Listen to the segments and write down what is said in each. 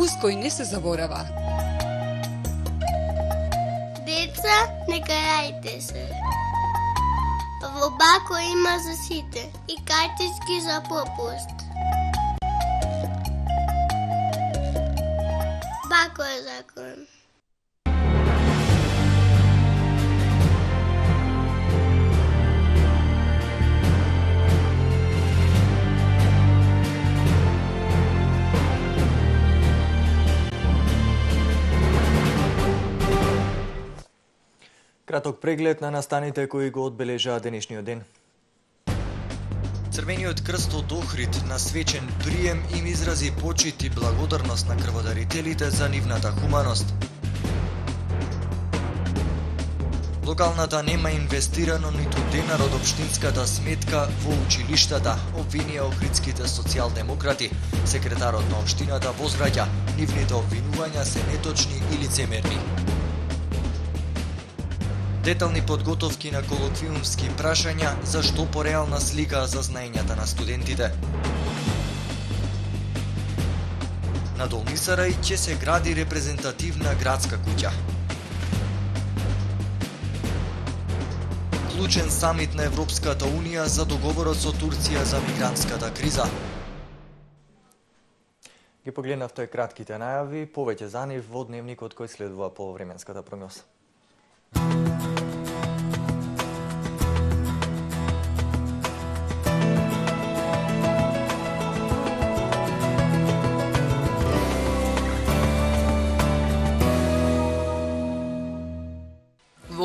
вкус кој не се заборава. Деца, не карајте се. Во Бако има за сите и картички за попуст. Бако е закон. Краток преглед на настаните кои го одбележаа денешниот ден. Црвениот крст од Охрид на свечен прием им изрази почит и благодарност на крводарителите за нивната хуманост. Локалната нема инвестирано ниту денар од општинската сметка во училиштата, обвинија охридските социјалдемократи. Секретарот на општината возвраќа, нивните обвинувања се неточни и лицемерни. Детални подготовки на колоквиумски прашања за што пореална слика за знаењата на студентите. На Долни Сарај ќе се гради репрезентативна градска куќа. Клучен самит на Европската Унија за договорот со Турција за мигрантската криза. Ги погледнавте кратките најави, повеќе за нив во дневникот кој следува по временската прогноза.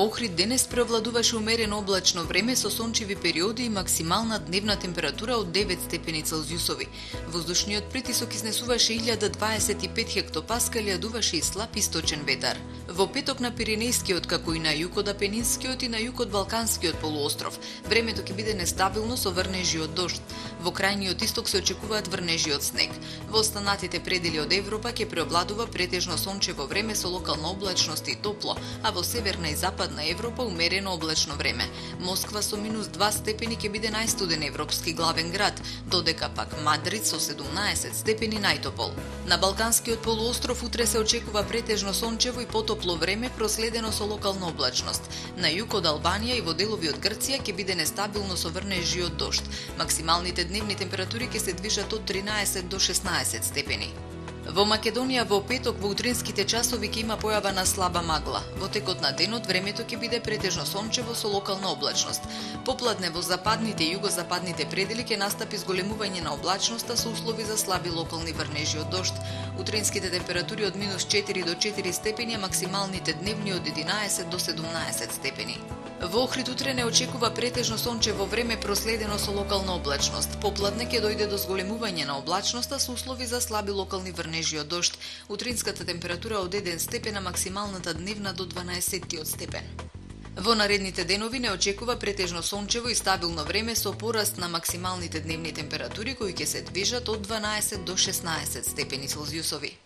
Во Охрид денес превладуваше умерено облачно време со сончеви периоди и максимална дневна температура од 9 степени Целзиусови. Воздушниот притисок изнесуваше 1025 хектопаскали, а дуваше и слаб источен ветар. Во петок на Пиренејскиот, како и на југот Апенинскиот и на југот Балканскиот полуостров, времето ќе биде нестабилно со врнежи од дожд. Во крајниот исток се очекуваат врнежи од снег. Во останатите предели од Европа ќе преобладува претежно сончево време со локална облачност и топло, а во северна и западна Европа умерено облачно време. Москва со -2 степени ќе биде најстуден европски главен град, додека пак Мадрид со 17 степени најтопол. На Балканскиот полуостров утре се очекува претежно сончево и потопло време проследено со локална облачност. На југ од Албанија и во делови од Грција ќе биде нестабилно со врнежи од дожд. Максималните дневни температури ќе се движат од 13 до 16 степени. Во Македонија во петок во утринските часови ќе има појава на слаба магла. Во текот на денот времето ќе биде претежно сончево со локална облачност. Попладне во западните и југозападните предели ќе настапи зголемување на облачноста со услови за слаби локални врнежи од дожд. Утринските температури од -4 до 4 степени, а максималните дневни од 11 до 17 степени. Во Охрид утре не очекува претежно сончево време проследено со локална облачност. Попладне ќе дојде до зголемување на облачноста со услови за слаби локални врнежи од дожд. Утринската температура од 1 степен, а максималната дневна до 12 степен. Во наредните денови не очекува претежно сончево и стабилно време со пораст на максималните дневни температури кои ќе се движат од 12 до 16 степени Целзиусови.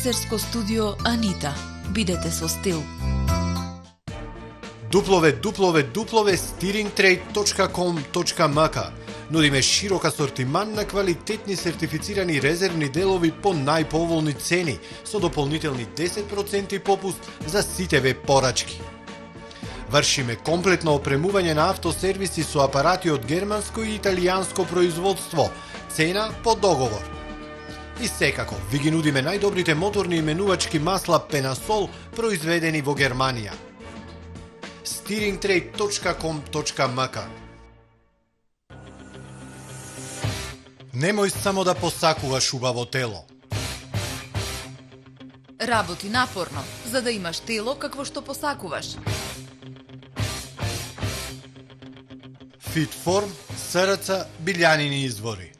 Фризерско студио Анита. Бидете со стил. www.stiringtrade.com.mk Нудиме широк асортиман на квалитетни сертифицирани резервни делови по најповолни цени, со дополнителни 10% попуст за сите веб порачки. Вршиме комплетно опремување на автосервиси со апарати од германско и италијанско производство, цена по договор. И секако, ви ги нудиме најдобрите моторни именувачки масла Пенасол, произведени во Германија. Steeringtrade.com.mk Немој само да посакуваш убаво тело. Работи напорно, за да имаш тело какво што посакуваш. Фитформ, СРЦ, Билјанини извори.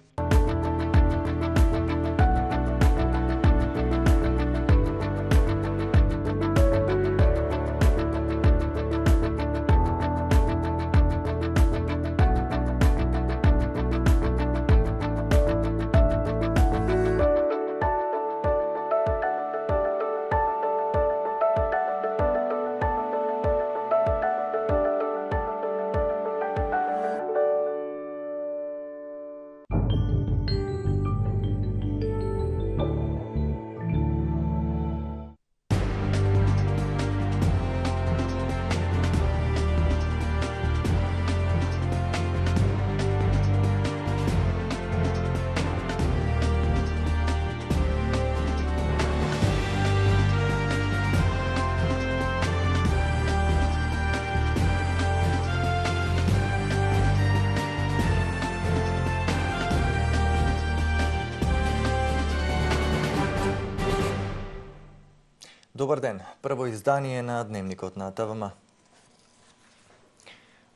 Добар ден, прво издание на Дневникот на ТВМ.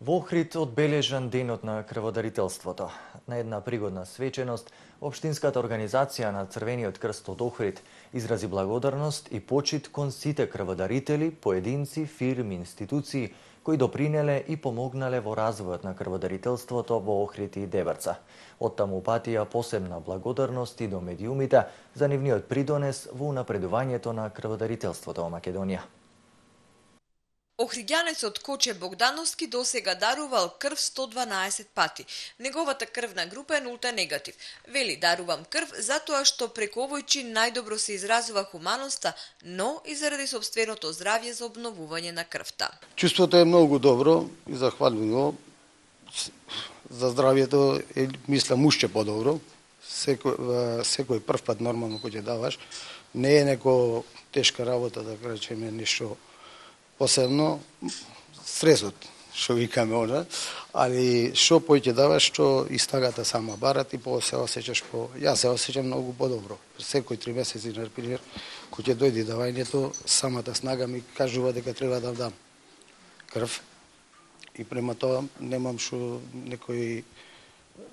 Во Охрид одбележан денот на крводарителството. На една пригодна свеченост, Општинската организација на Црвениот крст од Охрид изрази благодарност и почит кон сите крводарители, поединци, фирми, институции кои допринеле и помогнале во развојот на крводарителството во Охрид и Дебрца. Оттаму патија посебна благодарност и до медиумите за нивниот придонес во унапредувањето на крводарителството во Македонија. Охриѓанецот Коче Богдановски досега дарувал крв 112 пати. Неговата крвна група е нулта негатив. Вели, дарувам крв затоа што преку овој чин најдобро се изразува хуманоста, но и заради сопственото здравје за обновување на крвта. Чувството е многу добро и захвалливо. За здравјето е, мислам, уште подобро. Секој прв пат нормално кој ќе даваш, не е неко тешка работа, да речеме нешто посебно, стресот, што викаме она, али што поќе даваш, што истагата сама барат и се осеќаш Јас се осеќам многу подобро. Секој 3 месеци, например, кој ќе дојде давањето, самата снага ми кажува дека треба да дам крв. И према тоа немам што некој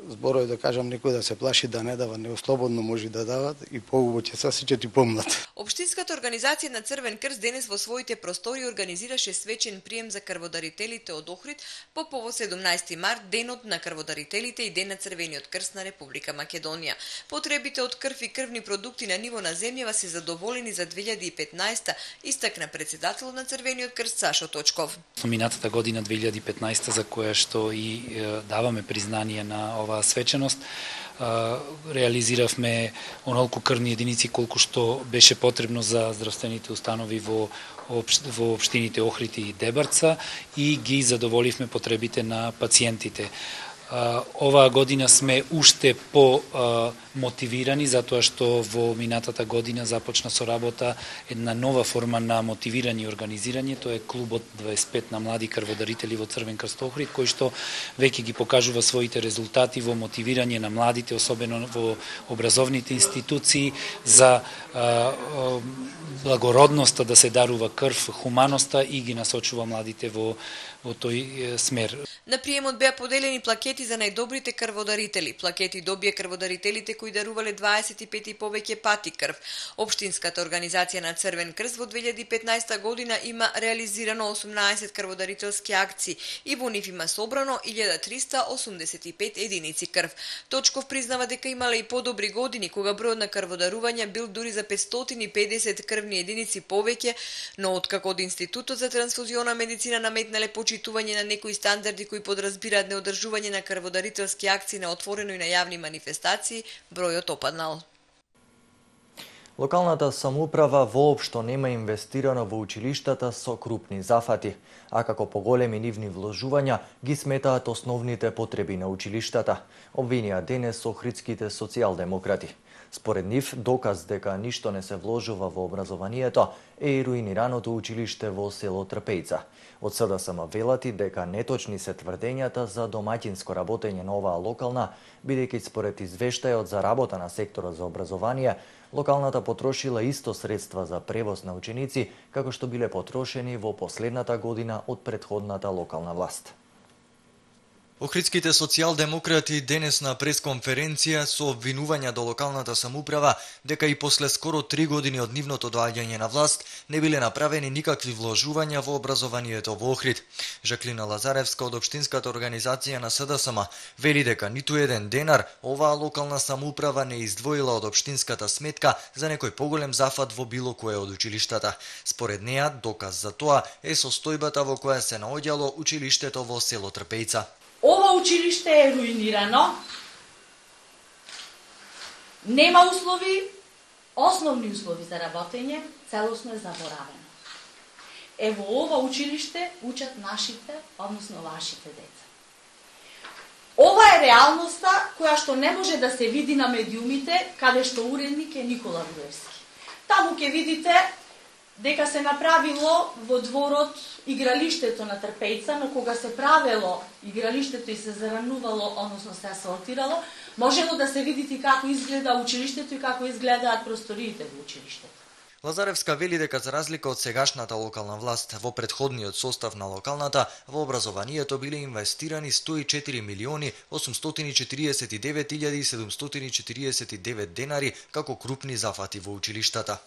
зборови да кажам некој да се плаши да не дава, не слободно може да дават и поубаво ќе се осеќат и помлад. Општинската организација на Црвен крст денес во своите простори организираше свечен прием за крводарителите од Охрид по повод 17 март, денот на крводарителите и ден на Црвениот крст на Република Македонија. Потребите од крв и крвни продукти на ниво на земјава се задоволени за 2015, истакна председателот на Црвениот крст Сашо Точков. Минатата година 2015 за која што и даваме признание на оваа свеченост, реализиравме онолку крвни единици колку што беше потребно за здравствените установи во општините Охрид и Дебрца и ги задоволивме потребите на пациентите. Оваа година сме уште мотивирани затоа што во минатата година започна со работа една нова форма на мотивирање и организирање, тоа е клубот 25 на млади крводарители во Црвен крст Охрид, кој што веќе ги покажува своите резултати во мотивирање на младите, особено во образовните институции, за благородноста да се дарува крв, хуманоста и ги насочува младите во тој смер. На приемот беа поделени плакети за најдобрите крводарители. Плакети добија крводарителите кои дарувале 25 и повеќе пати крв. Општинската организација на Црвен крст во 2015 година има реализирано 18 крводарителски акции и во нив има собрано 1385 единици крв. Точков признава дека имале и подобри години кога бројот на крводарувања бил дури за 550 крвни единици повеќе, но откако од Институтот за трансфузиона медицина наметнале почитување на некои стандарди кои подразбираат неодржување на крводарителски акции на отворено и на јавни манифестации, бројот опаднал. Локалната самоуправа воопшто нема инвестирано во училиштата со крупни зафати, а како поголеми нивни вложувања ги сметаат основните потреби на училиштата, обвинија денес охридските социјалдемократи. Според нив, доказ дека ништо не се вложува во образованието е и руинираното училиште во село Трпејца. Од СДСМ велат и дека неточни се тврдењата за домаќинско работење на оваа локална, бидејќи според извештајот за работа на секторот за образование, локалната потрошила исто средства за превоз на ученици, како што биле потрошени во последната година од претходната локална власт. Охридските социјалдемократи денес на пресконференција со обвинувања до локалната самоуправа дека и после скоро 3 години од нивното доаѓање на власт не биле направени никакви вложувања во образованието во Охрид. Жаклина Лазаревска од Општинската организација на СДСМ вели дека ниту еден денар оваа локална самоуправа не издвоила од општинската сметка за некој поголем зафат во било кое од училиштата. Според неа, доказ за тоа е состојбата во која се наоѓало училиштето во село Трпејца. Ова училиште е руинирано, нема услови, основни услови за работење, целосно е заборавено. Во ова училиште учат нашите, односно вашите деца. Ова е реалноста која што не може да се види на медиумите, каде што уредник е Никола Груевски. Таму ќе видите дека се направило во дворот игралиштето на Трпејца, но кога се правело игралиштето и се заранувало, односно се асфалтирало, можело да се видите како изгледа училиштето и како изгледаат просториите во училиштето. Лазаревска вели дека за разлика од сегашната локална власт, во претходниот состав на локалната, во образованието биле инвестирани 104 милиони 849.749 денари како крупни зафати во училиштата.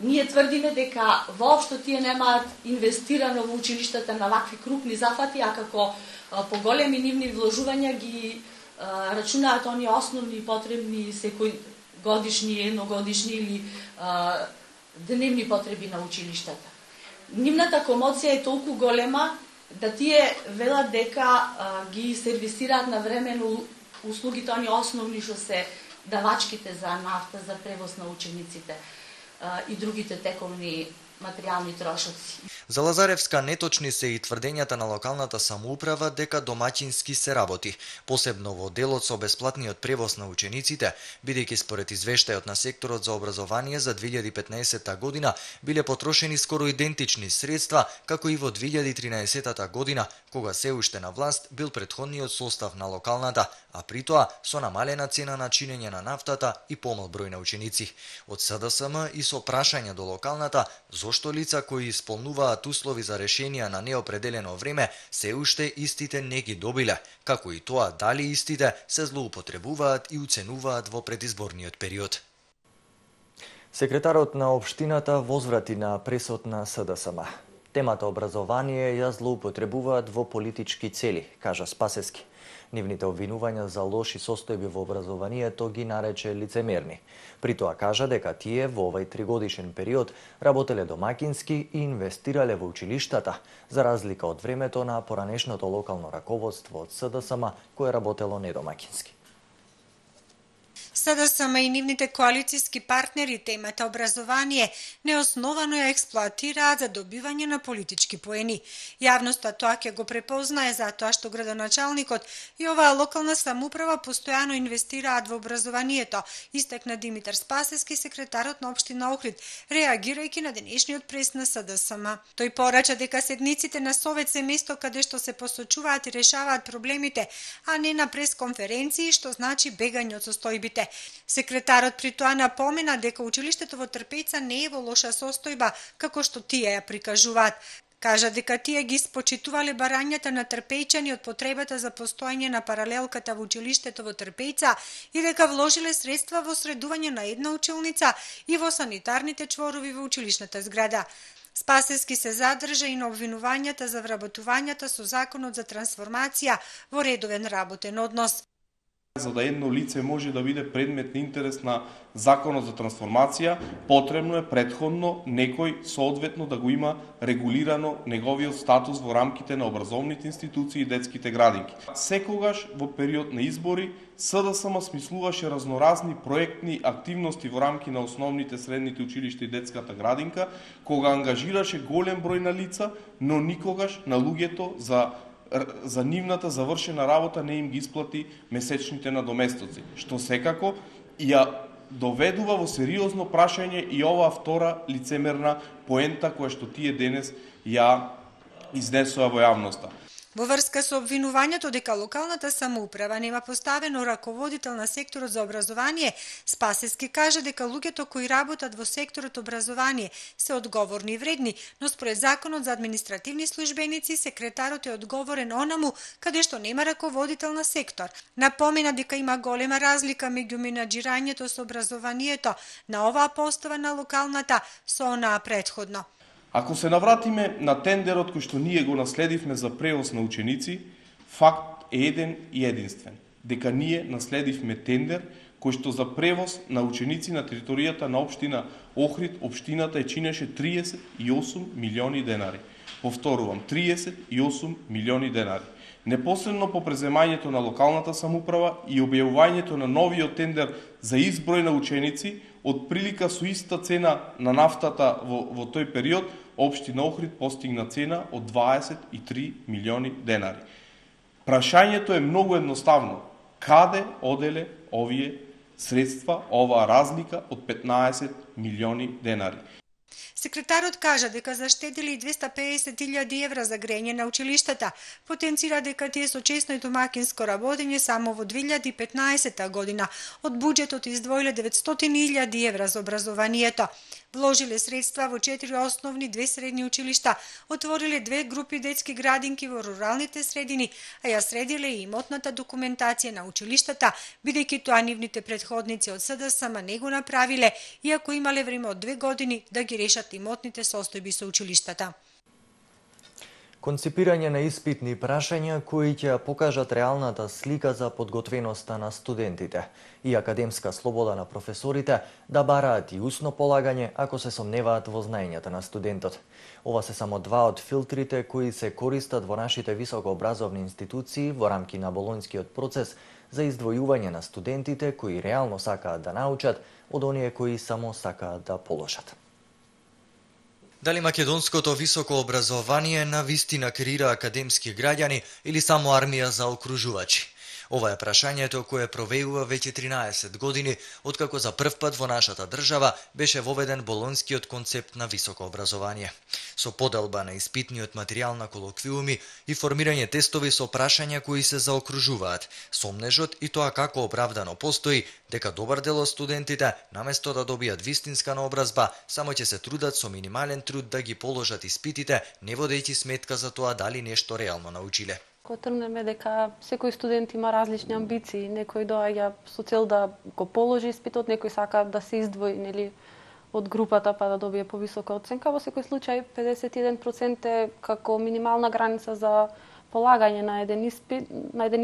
Ние тврдиме дека воопшто тие немаат инвестирано во училиштата на вакви крупни зафати, а како поголеми нивни вложувања ги рачунаат оние основни потребни секој годишни, едногодишни или дневни потреби на училиштата. Нивната комоција е толку голема да тие велат дека ги сервисираат на времено услугите оние основни што се давачките за нафта, за превоз на учениците и другите тековни материјални трошоци. За Лазаревска неточни се и тврдењата на локалната самоуправа дека домаќински се работи, посебно во делот со бесплатниот превоз на учениците, бидејќи според извештајот на секторот за образование за 2015 година биле потрошени скоро идентични средства како и во 2013 година, кога се уште на власт бил претходниот состав на локалната, а при тоа со намалена цена на чинење на нафтата и помал број на ученици. Од СДСМ и со прашања до локалната зошто лица кои исполнуваат услови за решенија на неопределено време се уште истите не ги добиле, како и тоа дали истите се злоупотребуваат и уценуваат во предизборниот период. Секретарот на општината возврати на пресод на СДСМ. Темата образование ја злоупотребуваат во политички цели, кажа Спасески. Нивните обвинувања за лоши состојби во образованието ги нарече лицемерни. При тоа кажа дека тие во овај 3-годишен период работеле домакински и инвестирале во училиштата, за разлика од времето на поранешното локално раководство од СДСМ кое работело недомакински. СДСМ и нивните коалицијски партнери темата образование неосновано ја експлоатираат за добивање на политички поени. Јавноста тоа ќе го препознае затоа што градоначалникот и оваа локална самоуправа постојано инвестираат во образованието, истакна Димитар Спасески, секретарот на општина Охрид, реагирајќи на денешниот прес на СДСМ. Тој порача дека седниците на Совет се место каде што се посочуваат и решаваат проблемите, а не на пресконференции, што значи бегање од состојбите. Секретарот при тоа напомена дека училиштето во Трпејца не е во лоша состојба, како што тие ја прикажуваат. Кажа дека тие ги испочитувале барањата на трпејчани од потребата за постојање на паралелката во училиштето во Трпејца и дека вложиле средства во средување на една училница и во санитарните чворови во училишната зграда. Спасески се задржа и на обвинувањата за вработувањата со законот за трансформација во редовен работен однос. За да едно лице може да биде предмет на интерес на законот за трансформација, потребно е претходно некој соодветно да го има регулирано неговиот статус во рамките на образовните институции и детските градинки. Секогаш во период на избори СДСМ смислуваше разноразни проектни активности во рамки на основните, средните училишта и детската градинка, кога ангажираше голем број на лица, но никогаш на луѓето за нивната завршена работа не им ги исплати месечните надоместоци, што секако ја доведува во сериозно прашање и оваа втора лицемерна поента која што тие денес ја изнесува во јавноста. Во врска со обвинувањето дека локалната самоуправа нема поставено раководител на секторот за образование, Спасески кажа дека луѓето кои работат во секторот образование се одговорни и вредни, но според законот за административни службеници секретарот е одговорен онаму каде што нема раководител на сектор. Напомена дека има голема разлика меѓу менаџирањето со образованието на оваа постава на локалната со онаа претходно. Ако се навратиме на тендерот кој што ние го наследивме за превоз на ученици, факт е еден и единствен, дека ние наследивме тендер кој што за превоз на ученици на територијата на општина Охрид, општината ја чинеше 38 милиони денари. Повторувам, 38 милиони денари. Непосредно по преземањето на локалната самоуправа и објавувањето на новиот тендер за изброј на ученици, од прилика со иста цена на нафтата во тој период, општина Охрид постигна цена од 23 милиони денари. Прашањето е многу едноставно. Каде оделе овие средства, оваа разлика од 15 милиони денари? Секретарот кажа дека заштедили 250.000 евра за грење на училиштата. Потенцира дека тие со чесно и домакинско работење само во 2015 година од буџетот издвоиле 900.000 евра за образованието. Вложиле средства во 4 основни, 2 средни училишта, отвориле 2 групи детски градинки во руралните средини, а ја средиле и имотната документација на училиштата, бидејќи тоа нивните претходници од СДСМ не го направиле, иако имале време од 2 години да ги решат имотните состојби со училиштата. Конципирање на испитни прашања кои ќе покажат реалната слика за подготвеноста на студентите и академска слобода на професорите да бараат и усно полагање ако се сомневаат во знаењата на студентот. Ова се само два од филтрите кои се користат во нашите високообразовни институции во рамки на болонскиот процес за издвојување на студентите кои реално сакаат да научат од оние кои само сакаат да положат. Дали македонското високо образование навистина креира академски граѓани или само армија за окружувачи? Ова е прашањето кое провеува веќе 13 години, откако за прв пат во нашата држава беше воведен болонскиот концепт на високо образование. Со поделба на испитниот материјал на колоквиуми и формирање тестови со прашања кои се заокружуваат, сомнежот и тоа како оправдано постои дека добар дел од студентите, наместо да добијат вистинска наобразба, само ќе се трудат со минимален труд да ги положат испитите, не водејќи сметка за тоа дали нешто реално научиле. Кога тргнеме дека секој студент има различни амбиции, некој доаѓа со цел да го положи испитот, некој сака да се издвои, нели, од групата па да добие повисока оценка. Во секој случај 51% е како минимална граница за полагање на еден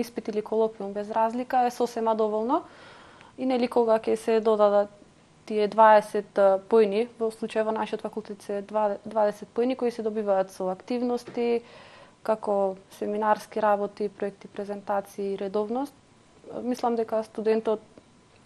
испит или колоквиум без разлика е сосема доволно. И нели кога ќе се додадат тие 20 поени, во случај во нашиот факултет се 20 поени кои се добиваат со активности, како семинарски работи, проекти, презентации и редовност, мислам дека студентот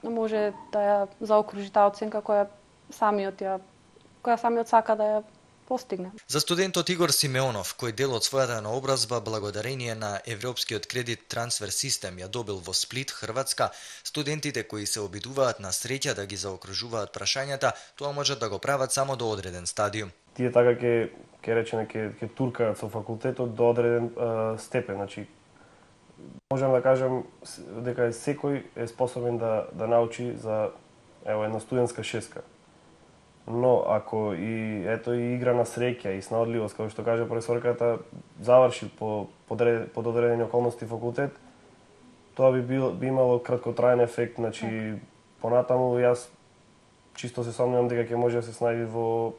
може да ја заокружи таа оценка која самиот сака да ја постигне. За студентот Игор Симеонов, кој дел од својата наобразба благодарение на Европскиот кредит трансфер систем ја добил во Сплит, Хрватска, студентите кои се обидуваат на среќа да ги заокружуваат прашањата, тоа можат да го прават само до одреден стадиум. Тие така ќе речеме ќе туркаат со факултетот до одреден степен, значи можам да кажам дека секој е способен да научи за една студентска шеска. Но ако и игра на среќа и снаодливост, како што каже професорката, заврши под одредени околности факултет, тоа би имало краткотраен ефект, значи понатаму јас чисто се сомневам дека ќе може да се снајде во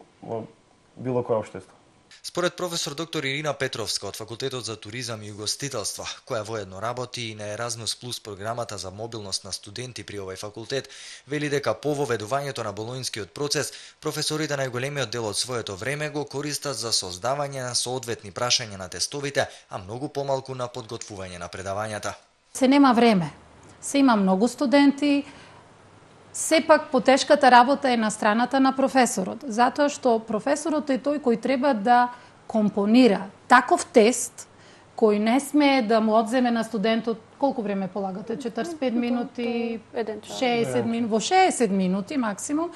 било кое општество. Според професор доктор Ирина Петровска од Факултетот за туризам и угостителство, која воедно работи и на Еразмус Плюс програмата за мобилност на студенти при овој факултет, вели дека по воведувањето на болонскиот процес, професорите најголемиот дел од своето време го користат за создавање на соодветни прашања на тестовите, а многу помалку на подготвување на предавањата. Се нема време. Се има многу студенти. Сепак потешката работа е на страната на професорот, затоа што професорот е тој кој треба да компонира таков тест кој не смее да му одземе на студентот колку време полагате, 45 минути, 60 минути, во 60 минути максимум,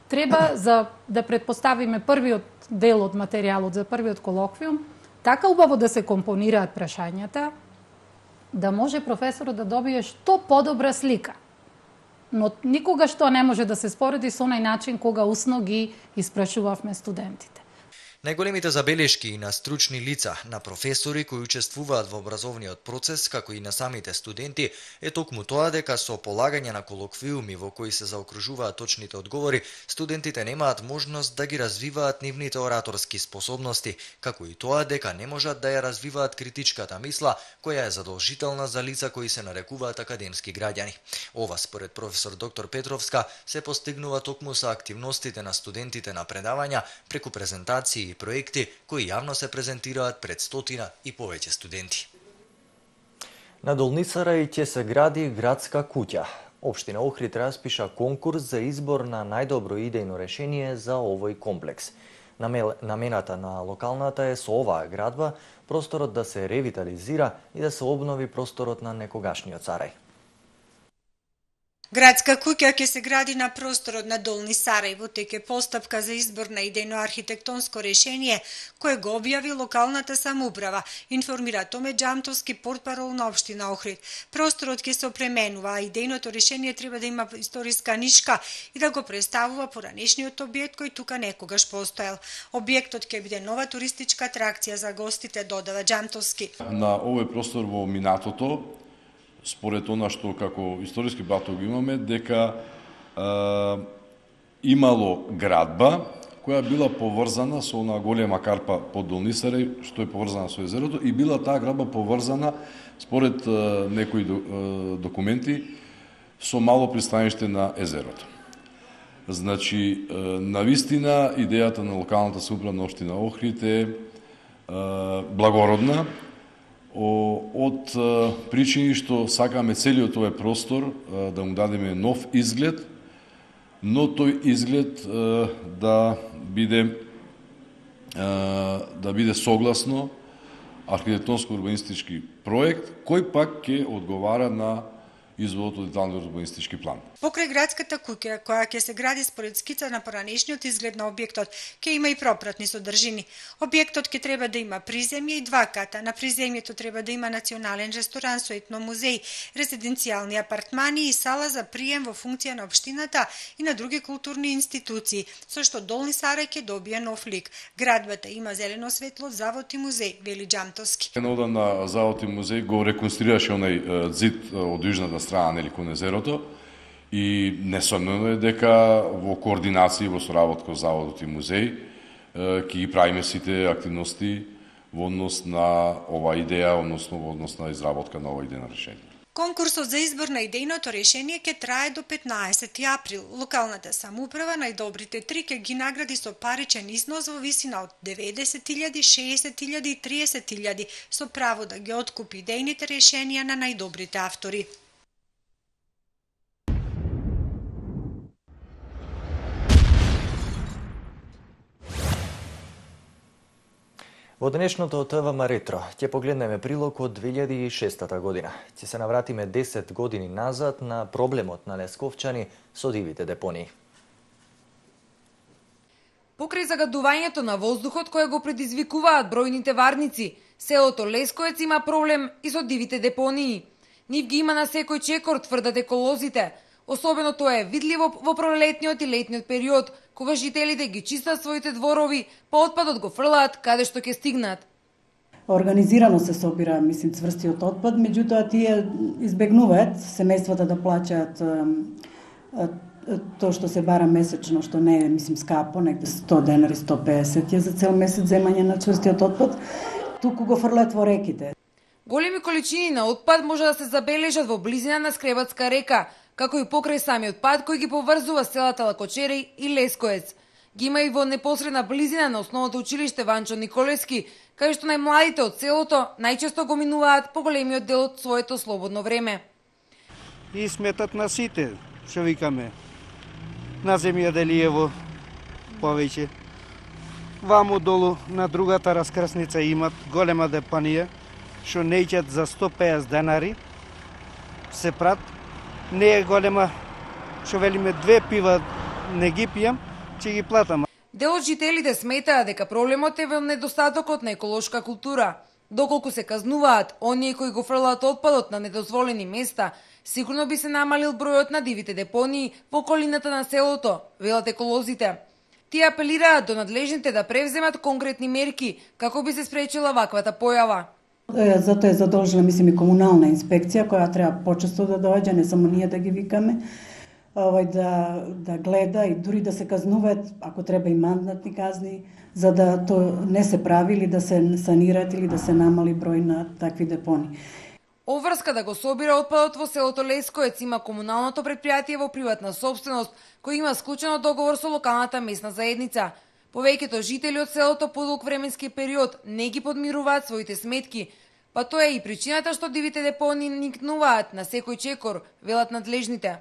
треба за да предпоставиме првиот дел од материјалот за првиот колоквиум, така убаво да се компонираат прашањата, да може професорот да добие што подобра слика. Но никогаш тоа не може да се спореди со онај начин кога усно ги испрашувавме студентите. Најголемите забелешки и на стручни лица, на професори кои учествуваат во образовниот процес, како и на самите студенти, е токму тоа дека со полагање на колоквиуми во кои се заокружуваат точните одговори, студентите немаат можност да ги развиваат нивните ораторски способности, како и тоа дека не можат да ја развиваат критичката мисла, која е задолжителна за лица кои се нарекуваат академски граѓани. Ова, според професор доктор Петровска, се постигнува токму со активностите на студентите на предавања преку презентации и проекти кои јавно се презентираат пред стотина и повеќе студенти. На Долницара и ќе се гради градска куќа. Општина Охрид распиша конкурс за избор на најдобро идејно решение за овој комплекс. Намената на локалната е со оваа градба просторот да се ревитализира и да се обнови просторот на некогашниот царај. Градска куќа ќе се гради на просторот на Долни Сарајево, теке постапка за избор на идејно-архитектонско решение, кое го објави локалната самоуправа, информира Томе Џамтовски, портпарол на општина Охрид. Просторот ќе се опременува, а идејното решение треба да има историска нишка и да го представува поранешниот објект кој тука некогаш постоел. Објектот ќе биде нова туристичка атракција за гостите, додава Џамтовски. На овој простор во минатото, според она што како историски баток имаме, дека имало градба која била поврзана со она голема карпа под Долни Сарај, што е поврзана со езерото, и била таа градба поврзана, според некои документи, со мало пристаниште на езерото. Значи, навистина, идејата на локалната самоуправа на општина Охрид е благородна, од причини што сакаме целиот овој простор да му дадеме нов изглед, но тој изглед да биде согласно архитектонско-урбанистички проект, кој пак ќе одговара на изводот од деталниот урбанистички план. Покрај градската куќа, која ќе се гради според скица на поранешниот изглед на објектот, ќе има и пропратни содржини. Објектот ќе треба да има приземје и 2 ката. На приземјето треба да има национален ресторан со етномузеј, резиденцијални апартмани и сала за прием во функција на општината и на други културни институции, со што Долни Сарај ќе добие нов лик. Градбата има зелено светло, завод и музеј, вели Џамтовски. Едно на завод и музеј го реконструираше онај зид од южната страна, нели, кон езерото, и несомнено е дека во координација во соработка со заводот и музеј ќе ги правиме сите активности во однос на ова идеја, односно во однос на изработка на ова идејно решение. Конкурсот за избор на идејното решение ќе трае до 15 април. Локалната самоуправа најдобрите 3 ќе ги награди со паричен износ во висина од 90.000, 60.000 и 30.000 со право да ги откупи идејните решенија на најдобрите автори. Во денешното ТВМ Ретро ќе погледнеме прилог од 2006 година. Ќе се навратиме 10 години назад на проблемот на лесковчани со дивите депонии. Покрај загадувањето на воздухот кое го предизвикуваат бројните варници, селото Лесковец има проблем и со дивите депонии. Нив ги има на секој чекор, тврдат еколозите. Особено тоа е видливо во пролетниот и летниот период, кога жителите ги чистат своите дворови, па отпадот го фрлаат каде што ќе стигнат. Организирано се собира, цврстиот отпад, меѓутоа тие избегнуваат семејствата да плаќаат тоа што се бара месечно, што не е, скапо, негде 100 денари, 150 е за цел месец земање на цврстиот отпад, туку го фрлаат во реките. Големи количини на отпад може да се забележат во близина на Скребатска река, како и покрај самиот пат кој ги поврзува селата Лакочереј и Лесковец. Ги има и во непосредна близина на основното училиште Ванчо Николевски, кај што најмладите од селото најчесто го минуваат поголемиот дел од своето слободно време. И сметат на сите, што викаме, на земја Делиево повеќе. Ваму долу на другата раскрсница имат голема депонија, што неќат за 150 денари, се прат. Не е голема, што велиме 2 пива не ги пијам, ќе ги платам. Дел од жителите сметаат дека проблемот е во недостатокот на еколошка култура. Доколку се казнуваат оние кои го фрлаат отпадот на недозволени места, сигурно би се намалил бројот на дивите депонии во околината на селото, велат еколозите. Тие апелираат до надлежните да превземат конкретни мерки како би се спречила ваквата појава. Затоа е задолжена, и комунална инспекција, која треба почесто да доаѓа, не само ние да ги викаме, да гледа и дури да се казнуваат, ако треба и мандатни казни, за да тоа не се прави или да се санираат или да се намали број на такви депони. Оврска да го собира отпадот во селото Лесковец има комуналното претпријатие во приватна собственост, кој има склучено договор со локалната местна заедница. Повеќето жители од селото по долг временски период не ги подмируваат своите сметки, па тоа е и причината што дивите депонии никнуваат на секој чекор, велат надлежните.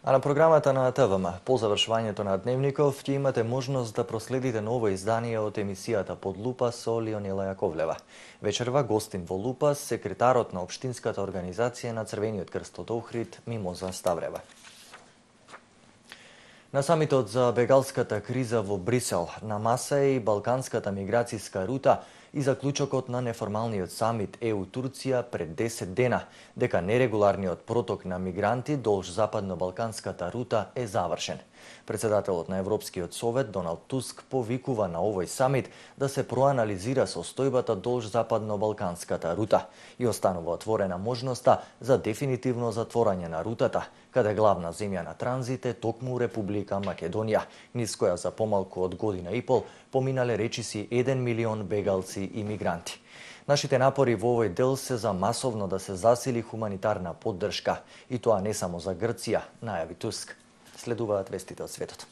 А на програмата на ТВМ, по завршувањето на Дневников, ќе имате можност да проследите ново издание од емисијата Под лупа со Лионела Јаковлева. Вечерва гостин во Лупа секретарот на Општинската организација на Црвениот крст од Охрид, Мимоза Ставрева. На самитот за бегалската криза во Брисел, на маса е и балканската миграцијска рута и заклучокот на неформалниот самит ЕУ-Турција пред 10 дена, дека нерегуларниот проток на мигранти долж западно-балканската рута е завршен. Председателот на Европскиот совет Доналд Туск повикува на овој самит да се проанализира состојбата долж западно-балканската рута и останува отворена можноста за дефинитивно затворање на рутата, каде главна земја на транзит е токму Република Македонија, низ која за помалку од година и пол поминале речиси 1 милион бегалци и мигранти. Нашите напори во овој дел се за масовно да се засили хуманитарна поддршка, и тоа не само за Грција, најави Туск. Следуваат вестите од светот.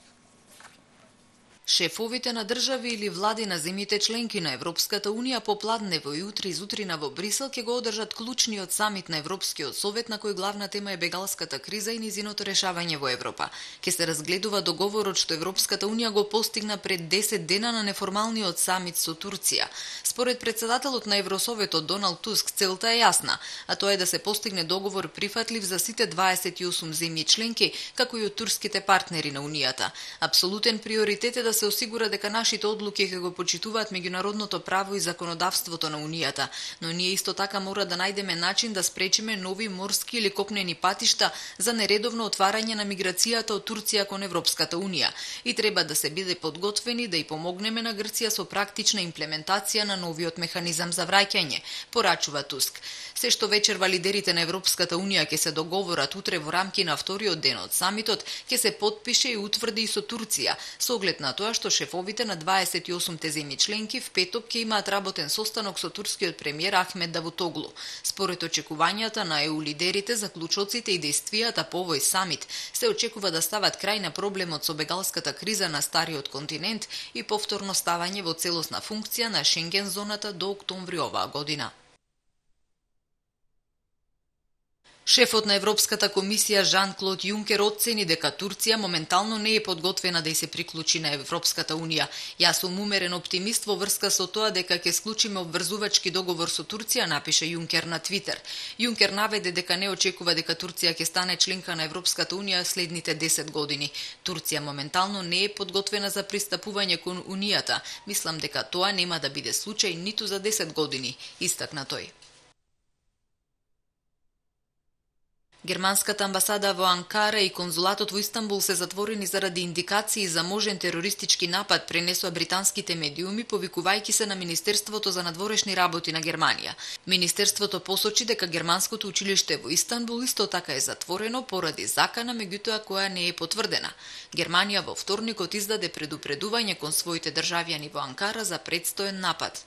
Шефовите на држави или влади на земјите членки на Европската Унија попладнево и утре изутрина во Брисел ќе го одржат клучниот самит на Европскиот совет, на кој главна тема е бегалската криза и низиното решавање во Европа. Ке се разгледува договорот што Европската Унија го постигна пред 10 дена на неформалниот самит со Турција. Според председателот на Евросоветот Доналд Туск, целта е јасна, а тоа е да се постигне договор прифатлив за сите 28 земји членки, како и од турските партнери на Унијата. Апсолутен приоритет е да се осигура дека нашите одлуки ќе го почитуваат меѓународното право и законодавството на Унијата, но ние исто така мора да најдеме начин да спречиме нови морски или копнени патишта за нередовно отварање на миграцијата од Турција кон Европската Унија и треба да се биде подготвени да и помогнеме на Грција со практична имплементација на новиот механизам за враќање, порачува Туск. Се што вечерва лидерите на Европската Унија ќе се договорат утре во рамки на вториот ден од самитот, ќе се потпише и утврди и со Турција, со оглед на тоа што шефовите на 28 земји членки в петок ќе имаат работен состанок со турскиот премиер Ахмед Давутоглу. Според очекувањата на ЕУ лидерите, заклучоците и действијата по овој самит се очекува да стават крај на проблемот со бегалската криза на стариот континент и повторно ставање во целосна функција на Шенген зоната до октомври оваа година. Шефот на Европската комисија Жан-Клод Јункер оцени дека Турција моментално не е подготвена да се приклучи на Европската Унија. Јас сум умерен оптимист во врска со тоа дека ќе склучиме обврзувачки договор со Турција, напише Јункер на Твитер. Јункер наведе дека не очекува дека Турција ќе стане членка на Европската Унија следните 10 години. Турција моментално не е подготвена за пристапување кон Унијата. Мислам дека тоа нема да биде случај ниту за 10 години, истакна тој. Германската амбасада во Анкара и конзулатот во Истанбул се затворени заради индикации за можен терористички напад, пренесоа британските медиуми, повикувајќи се на Министерството за надворешни работи на Германија. Министерството посочи дека германското училиште во Истанбул исто така е затворено поради закана, меѓутоа која не е потврдена. Германија во вторникот издаде предупредување кон своите државјани во Анкара за предстоен напад.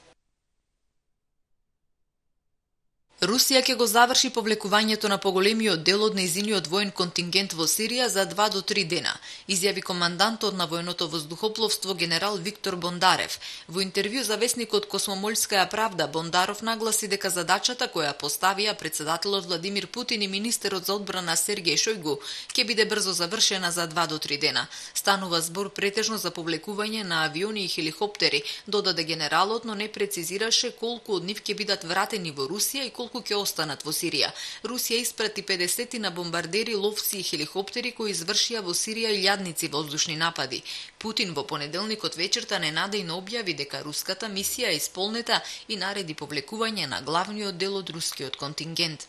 Русија ќе го заврши повлекувањето на поголемиот дел од нејзиниот воен контингент во Сирија за 2 до 3 дена, изјави командантот на војното воздухопловство генерал Виктор Бондарев. Во интервју за весникот Космомольская правда, Бондаров нагласи дека задачата која поставија председателот Владимир Путин и министерот за одбрана Сергеј Шојгу ќе биде брзо завршена за 2 до 3 дена. Станува збор претежно за повлекување на авиони и хеликоптери, додаде генералот, но не прецизираше колку од нив ќе бидат вратени во Русија и колку ќе останат во Сирија. Русија испрати 50 на бомбардери, ловци и хеликоптери кои извршија во Сирија илјадници воздушни напади. Путин во понеделникот вечерта ненадејно објави дека руската мисија е исполнета и нареди повлекување на главниот дел од рускиот контингент.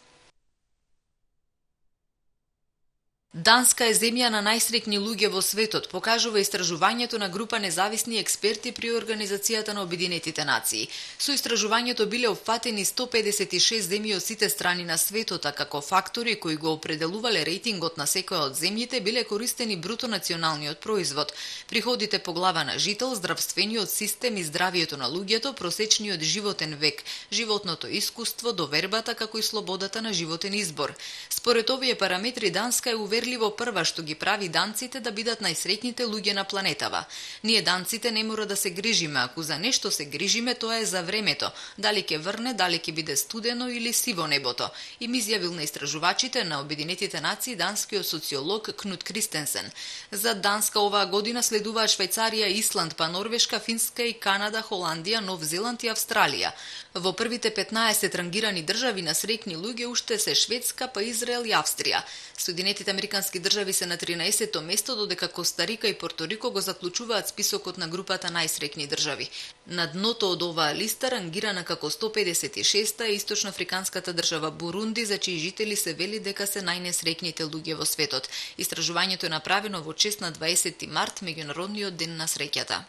Данска е земја на најсреќни луѓе во светот, покажува истражувањето на група независни експерти при Организацијата на Обединетите нации. Со истражувањето биле опфатени 156 земји од сите страни на светот, а како фактори кои го определувале рейтингот на секоја од земјите биле користени бруто националниот производ, приходите по глава на жител, здравствениот систем и здравието на луѓето, просечниот животен век, животното искуство, довербата како и слободата на животен избор. Според овие параметри Данска е уверена уверливо прва што ги прави данците да бидат најсреќните луѓе на планетава. Ние данците не мора да се грижиме, ако за нешто се грижиме, тоа е за времето, дали ќе врне, дали ќе биде студено или сиво небото, им изјавил на истражувачите на Обединетите нации данскиот социолог Кнут Кристенсен. За Данска оваа година следуваат Швајцарија, Исланд, па Норвешка, Финска и Канада, Холандија, Нов Зеланд и Австралија. Во првите 15 рангирани држави на среќни луѓе уште се Шведска, па Израел и Австрија. Соединетите американски држави се на 13-то место, додека Костарика и Порторико го заклучуваат списокот на групата најсреќни држави. На дното од оваа листа, рангирана како 156-та, е источноафриканската држава Бурунди, за чии жители се вели дека се најнесреќните луѓе во светот. Истражувањето е направено во чест на 20 март, меѓународниот ден на среќата.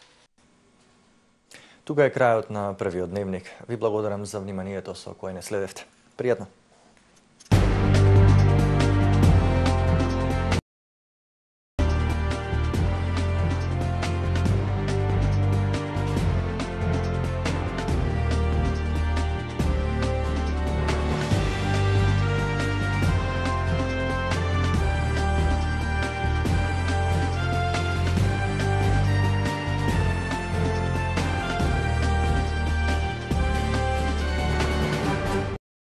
Тука е крајот на првиот дневник. Ви благодарам за вниманието со кое не следевте. Пријатно!